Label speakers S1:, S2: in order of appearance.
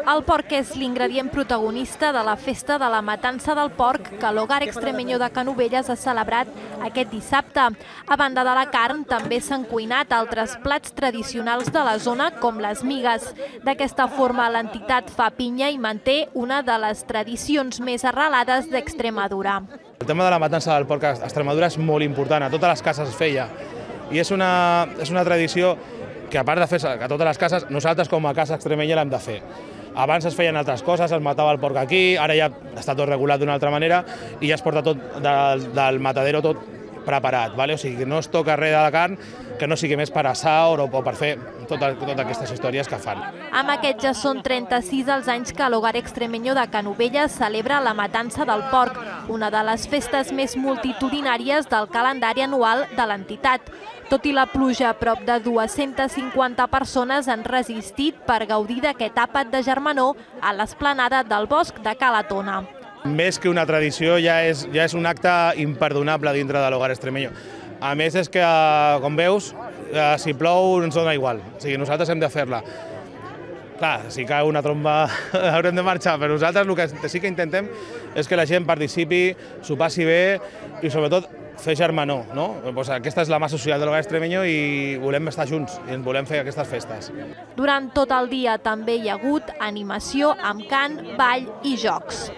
S1: El porc és l'ingredient protagonista de la festa de la matança del porc que l'Hogar Extremeño de Canovelles ha celebrat aquest dissabte. A banda de la carn, també s'han cuinat altres plats tradicionals de la zona, com les migues. D'aquesta forma, l'entitat fa pinya i manté una de les tradicions més arrelades d'Extremadura.
S2: El tema de la matança del porc a Extremadura és molt important, a totes les cases es feia. I és una tradició que, a part de fer a totes les cases, nosaltres com a casa extremenya l'hem de fer. Abans es feien altres coses, es matava el porc aquí, ara ja està tot regulat d'una altra manera i ja es porta tot del matadero tot preparat. O sigui, que no es toca res de la carn que no sigui més per assar o per fer totes aquestes històries que fan.
S1: Amb aquest ja són 36 els anys que l'Hogar Extremeño de Canovelles celebra la matança del porc, una de les festes més multitudinàries del calendari anual de l'entitat. Tot i la pluja, prop de 250 persones han resistit per gaudir d'aquest àpat de germanor a l'esplanada del bosc de Cala Tona.
S2: Més que una tradició, ja és un acte imperdonable dintre de l'Hogar Extremeño. A més, és que, com veus, si plou ens dona igual. O sigui, nosaltres hem de fer-la. Clar, si cau una tromba haurem de marxar, però nosaltres el que sí que intentem és que la gent participi, s'ho passi bé i, sobretot, fer germanor. Aquesta és la mà social de l'Hogar Extremeño i volem estar junts i ens volem fer aquestes festes.
S1: Durant tot el dia també hi ha hagut animació amb cant, ball i jocs.